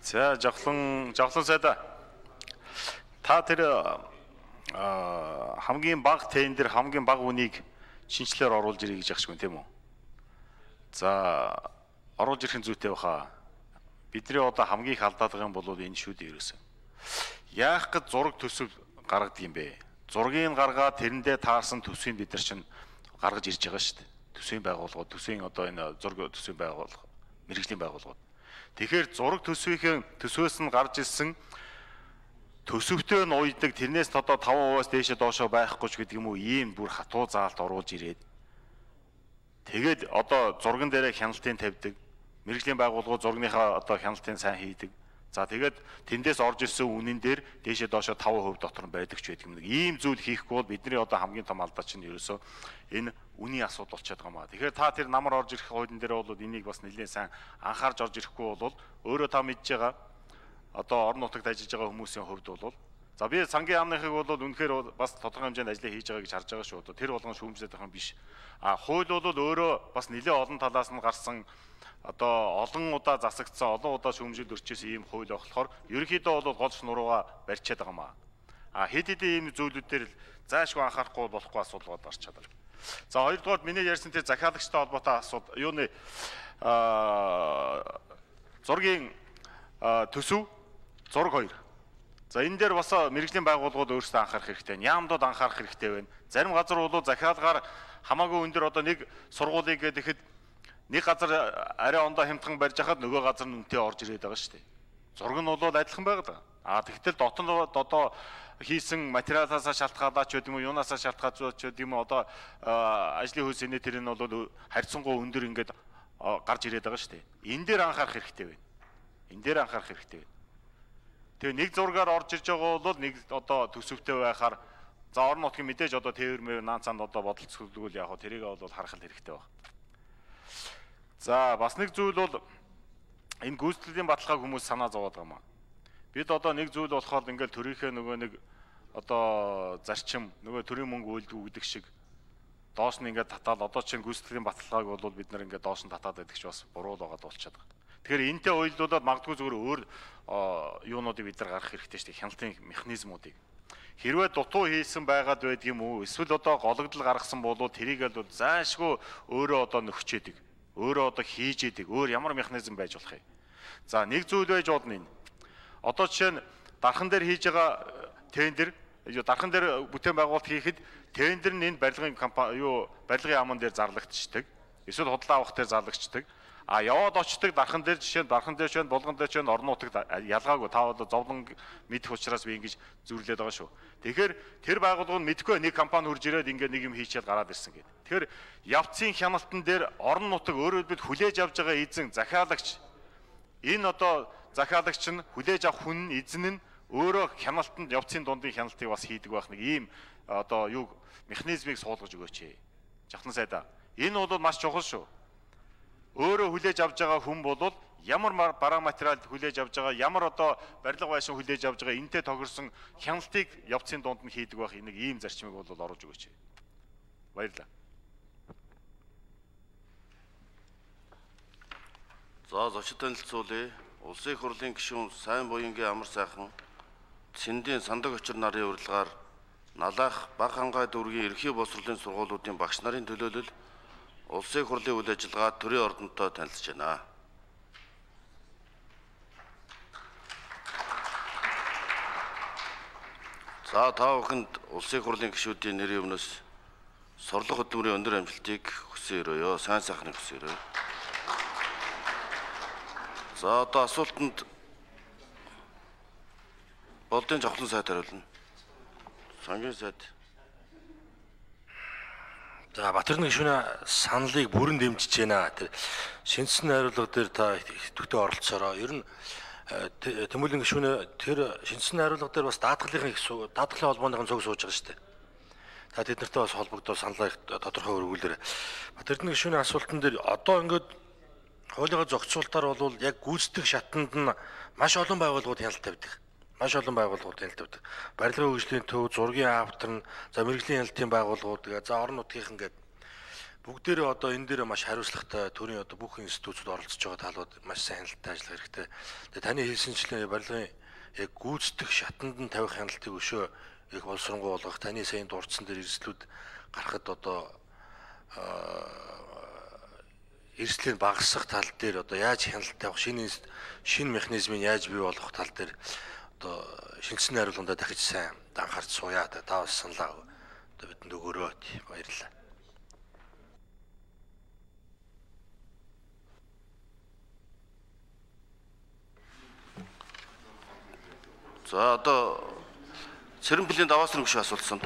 За жавхлан сайда. Та тэр хамгийн бага тендер хамгийн бага үнийг шинжлэлээр оруулж ирэх гэж ахшгүй тийм үү? За оруулж ирэх зүйтэй баха. Бидний одоо хамгийн их алдаад байгаа юм бол энэ шүү дээ ерөөсөө. Яах гэж зураг төсөв гаргадаг юм бэ? Зургийг гаргаад тэрэндээ таарсан төсвийг бид нар чинь гаргаж ирж байгаа шүү дээ. Төсвийн байгууллагууд, төсвийн одоо энэ зураг төсвийн байгууллага, мэргэжлийн байгууллагууд. Тэгэхээр зураг төсвөөс нь гарч ирсэн төсөвтөө нь уйдаг тэрнээс одоо 5%-аас дээшээ доошоо байхгүй ч гэдэг юм уу ийм бүр хатуу заалт оруулж ирээд тэгээд одоо зурган дээрээ хяналтын тавьдаг, мэргэжлийн байгууллагууд зургийнхаа одоо хяналтын сайн хийдэг. За тэгээд тэндээс орж ирсэн үнэн дээр дээшээ доошоо 5% дотор нь байдаг ч байдаг юм. Ийм зүйл хийхгүй бол бидний одоо хамгийн том алдаа чинь ерөөсөө энэ үнийн асуудал болчиход байгаа маа. Тэгэхээр та тэр намар орж ирэх хуулийн дээр бол энийг бас нэлээд сайн анхаарч орж ирэхгүй бол өөрөө та мэдж байгаа одоо орон нутагт ажиллаж байгаа хүмүүсийн хувьд бол за би сангийн яамныхыг бол үнэхээр бас тодорхой хэмжээнд ажиллаа хийж байгаа гэж харж байгаа шүү. Тэр болгон шүүмжлээд байгаа юм биш. Хууль бол өөрөө бас нэлээд олон талаас нь гарсан одоо олон удаа засагдсан, олон удаа шүүмжилд өрчөөс ийм хууль болохоор ерөнхийдөө бол гол шнурууга барьчаад байгаа маа. Хэд хэдэн ийм зүйлүүдээр заашгүй анхаарахгүй болохгүй асуудал гарч чаддаг. За хоёрдугаар миний ярьсан тэр захиалагчтай холбоотой асуудал юуны зургийн төсөв зураг 2. За энэ дээр бас мэргэжлийн байгууллагууд өөрсдөө анхаарах хэрэгтэй байна. Яамдууд анхаарах хэрэгтэй байна. Зарим газар бол захиалгаар хамаагүй өндөр одоо нэг сургуулийг гэхэд нэг газар арай ондоо хямдхан барьж хахад нөгөө газар нь үнэтэй орж ирээд байгаа шүү дээ. Зураг нь бол адилхан байгаа. Тэгтэл дотор одоо хийсэн материалаас шалтгаалаад ч гэдэг юм уу, юунаас шалтгаалж ч гэдэг юм уу одоо ажлын хөлсөний тэр нь бол харьцангуй өндөр ингээд гарч ирээд байгаа шүү дээ. Энэ дээр анхаарах хэрэгтэй байна. Тэгээ нэг зургаар орж ирж байгаа бол нэг одоо төсөвтэй байхаар за орон нутгийн мэдээж одоо тээвэр наанцанд одоо бодолцоглол яг тэрийг бол харах хэрэгтэй байна. За бас нэг зүйл бол энэ гүйцэтгэлийн баталгааг хүмүүс санаа зовоод байгаа маа. Бид одоо нэг зүйл болохоор ингээл төрийнхээ нөгөө нэг одоо зарчим нөгөө төрийн мөнгө үйлдвүү гэдэг шиг доош нь ингээд татаад одоо чинь гүйцэтгэлийн баталгааг бол бид нар ингээд доош нь татаад байдаг ч бас буруу л байгаа болчиход байгаа. Тэгэхээр энэтэй уялдуулаад магадгүй зүгээр өөр юунуудыг бид нар гаргах хэрэгтэй шүү дээ. Хяналтын механизмуудыг. Хэрвээ дутуу хийсэн байгаад байдаг юм уу? Эсвэл одоо гологдол гаргасан бол тэрийг л заашгүй өөрөө одоо нөхчээдэг. Өөрөө одоо хийж идэг. Өөр ямар механизм байж болох юм? За нэг зүйл байж болно энэ. Одоо жишээ нь дархан дээр хийж байгаа тендер, дархан дээр бүтээн байгуулалт хийхэд тендер нь энэ барилгын компани барилгын яамн дээр зарлагдчихдаг. Эсвэл худалдаа авах дээр зарлагдчихдаг. Яваад очдог дархан дээр жишээ нь дархан дээр ч болгон дээр ч орон нутагт ялгаагүй та бол зовлон мэдэх учраас би ингэж зүрлээд байгаа шүү. Тэгэхээр тэр байгууллага нь мэдхгүй нэг компани хурж ирээд ингээ нэг юм хийчихэл гараад ирсэн гэдэг. Тэгэхээр явцын хяналтан дээр орон нутаг өөрөө бид хүлээж авж байгаа эзэн захиалагч энэ одоо захиалагч нь хүлээж авах хүн эзэн нь өөрөө хяналтанд явцын дундын хяналтыг бас хийдэг байх нэг ийм одоо юу механизмыг суулгаж өгөөч. Жахлан сайдаа. Энэ бол маш чухал шүү. Өөрөө хүлээж авж байгаа хүн бол ямар бараа материал хүлээж авж байгаа, ямар одоо барилга байшин хүлээж авж байгаа энтэй тохирсон хяналтыг явцын дунд нь хийдэг байх нэг ийм зарчмыг бол оруулж өгөөч. Баярлалаа. За зочид танилцуулъя. Улсын их хурлын гишүүн Сайн буянгийн амар сайхан Цэндийн сандаг очир нарын урилгаар Налаах Баг хангай дүүргийн ерхий боловсролын сургуулиудын багш нарын төлөөлөл Улсын их хурлын үйл ажиллагаа төрийн ордонтой танилцж байна. За та бүхэнд Улсын их хурлын гишүүдийн нэрийн өмнөөс сорлого хөдөлмөрийн өндөр амжилтыг хүсэн өрөөё. Сайн сайхныг хүсэн өрөөё. За одоо асуултанд Болдын Жавхлан сайд хариулна. Сангийн сайд. За Батэрдэн гишүүний саналыг бүрэн дэмжиж байна. Тэр шинжсэн найруулга дээр та идэвхтэй оролцоороо. Ер нь Тэмүүлэн гишүүний тэр шинжсэн найруулга дээр бас даатгалын холбооныхын цуг сууж байгаа шүү дээ. Та тэднэртэй бас холбогдоод саналаа тодорхой өргүүлээрэй. Батэрдэн гишүүний асуултан дээр одоо ингээд хуулийнхаа зохицуултаар бол яг гүйцэтгэх шатанд нь маш олон байгууллагууд хяналт тавьдаг. Барилгын хөгжлийн төв, зургийн автор нь, за мэрэгжлийн хяналтын байгууллагууд, за орон нутгийнхан гэдэг. бүгдээрээ одоо энэ дээр маш хариуцлагатай төрийн одоо бүх институтууд оролцож байгаа талууд маш сайн хяналттай ажиллах хэрэгтэй. Тэгээ таны хэлсэнчлэн барилгын яг гүйцэтгэх шатанд нь тавих хяналтыг өшөө их боловсронгуй болгох, таны сайн дурдсан дээр эрсдлүүд гарахад одоо эрсдлийг багасгах тал дээр одоо яаж хяналт тавих, шинэ механизмыг яаж бий болгох тал дээр одоо шинжсэн найруулгандаа дахиж сайн анхаарч сууя. Та бас саналаа одоо бидэнд өгөөрэй. Баярлалаа. За одоо Цэрэн Плийн даваас нэг шиг асуулсан.